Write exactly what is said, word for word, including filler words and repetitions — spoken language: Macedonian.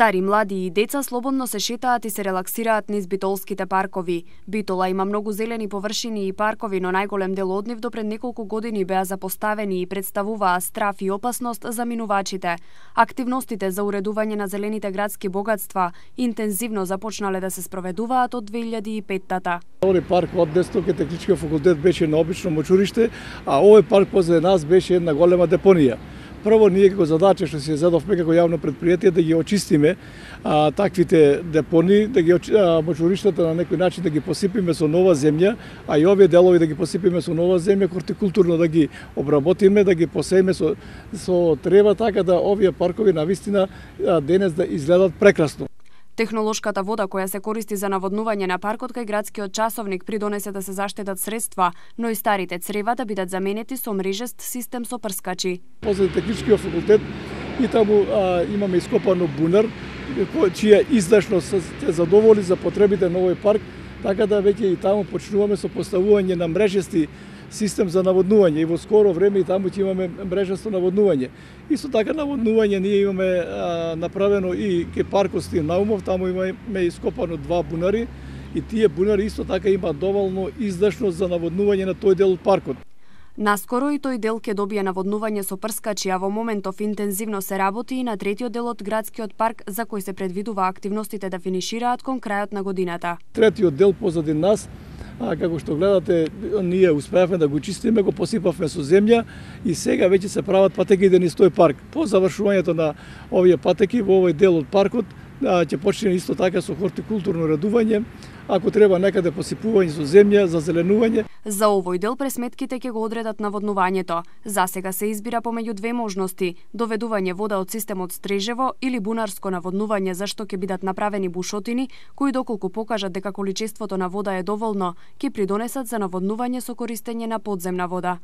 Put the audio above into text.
Стари, млади и деца слободно се шетаат и се релаксираат низ битолските паркови. Битола има многу зелени површини и паркови, но најголем дел од нив до пред неколку години беа запоставени и представуваа страф и опасност за минувачите. Активностите за уредување на зелените градски богатства интензивно започнале да се спроведуваат од две илјади и петта. Овој парк од Дестокот техничкиот факултет беше на обично мочуристе, а овој парк позади нас беше една голема депонија. Прво, ние како задача што се задовме како јавно предпријатие да ги очистиме а, таквите депони, да ги а, мочуриштата на некој начин да ги посипиме со нова земја, а и овие делови да ги посипиме со нова земја, хортикултурно да ги обработиме, да ги посееме со, со трева, така да овие паркови навистина а, денес да изгледат прекрасно. Технолошката вода која се користи за наводнување на паркот кај градскиот часовник придонесе да се заштедат средства, но и старите црева да бидат заменети со мрежест систем со прскачи. Позади техничкиот факултет и таму а, имаме ископано бунар, чија издашност се задоволи за потребите на овој парк, така да веќе и таму почнуваме со поставување на мрежести систем за наводнување и во скоро време и таму ќе имаме мрежесто наводнување. Исто така наводнување ние имаме а, направено и ке паркот Стиен Наумов, таму имаме ископано два бунари и тие бунари исто така има доволно издашност за наводнување на тој дел од паркот. Наскоро и тој дел ќе добие наводнување со прскачи, а во моментов интензивно се работи и на третиот дел од градскиот парк за кој се предвидува активностите да финишираат кон крајот на годината. Третиот дел позади нас, а, како што гледате, ние успеавме да го чистиме, го посипавме со земја и сега веќе се прават патеките низ тој парк. По завршувањето на овие патеки во овој дел од паркот ќе почне исто така со хортикултурно редување, ако треба некаде посипување со земја, за зеленување. За овој дел пресметките ќе го одредат наводнувањето. За сега се избира помеѓу две можности: доведување вода од системот Стрежево или бунарско наводнување, за што ќе бидат направени бушотини, кои доколку покажат дека количеството на вода е доволно, ќе придонесат за наводнување со користење на подземна вода.